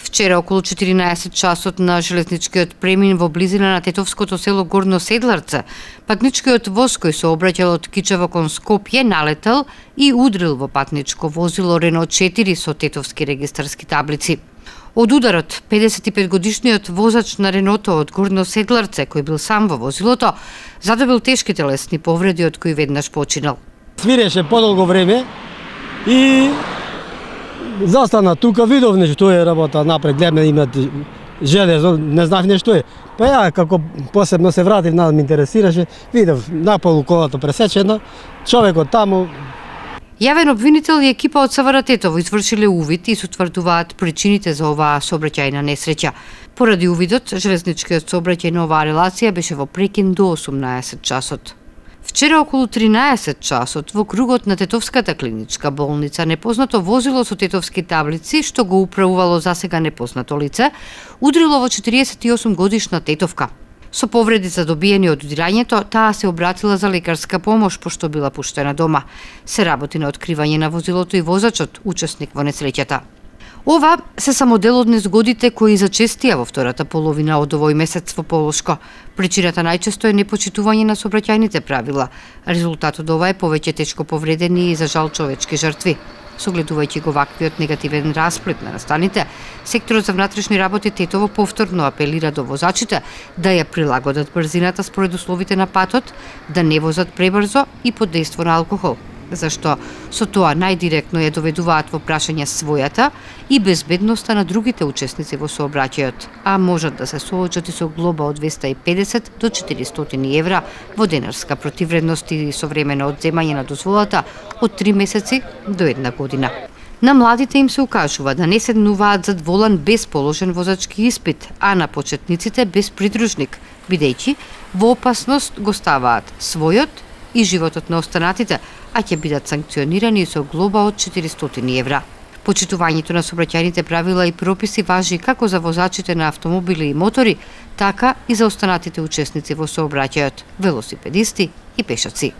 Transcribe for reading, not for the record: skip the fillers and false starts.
Вчера околу 14 часот на железничкиот премин во близина на тетовското село Горно Седларце, патничкиот воз кој се обраќал од Кичево кон Скопје налетел и удрил во патничко возило Рено 4 со тетовски регистарски таблици. Од ударот, 55-годишниот возач на Реното од Горно Седларце, кој бил сам во возилото, задобил тешки телесни повреди од кои веднаш починал. Свиреше подолго време и застана тука, видов нешто, што е работа напред, гледаме имат железо, не знав нешто е. Па ја, како посебно се вратив, нас ме интересираше, видов наполу колата пресечена, човекот таму. Јавен обвинител и екипа од СВР Тетово извршиле увид и се утврдуваат причините за оваа сообраќајна несреќа. Поради увидот, железничкиот сообраќај на оваа релација беше во прекин до 18 часот. Вчера околу 13 часот во кругот на Тетовската клиничка болница непознато возило со тетовски таблици, што го управувало засега непознато лице, удрило во 48 годишна тетовка. Со повреди задобиени од удирањето, таа се обратила за лекарска помош, пошто била пуштена дома. Се работи на откривање на возилото и возачот, учесник во несреќата. Ова се само дел од незгодите кои зачестија во втората половина од овој месец во Полошко. Причината најчесто е непочитување на сообраќајните правила. Резултатот ова е повеќе тешко повредени и за жал човечки жртви. Согледувајќи го ваквиот негативен расплет на настаните, секторот за внатрешни работи Тетово повторно апелира до возачите да ја прилагодат брзината според условите на патот, да не возат пребрзо и под дејство на алкохол, зашто со тоа најдиректно ја доведуваат во прашање својата и безбедноста на другите учесници во сообраќајот, а можат да се соочат и со глоба од 250 до 400 евра во денарска противвредност и современо одземање на дозволата од 3 месеци до 1 година. На младите им се укажува да не седнуваат зад волан без положен возачки испит, а на почетниците без придружник, бидејќи во опасност го ставаат својот и животот на останатите, а ќе бидат санкционирани со глоба од 400 евра. Почитувањето на сообраќајните правила и прописи важи како за возачите на автомобили и мотори, така и за останатите учесници во сообраќајот, велосипедисти и пешаци.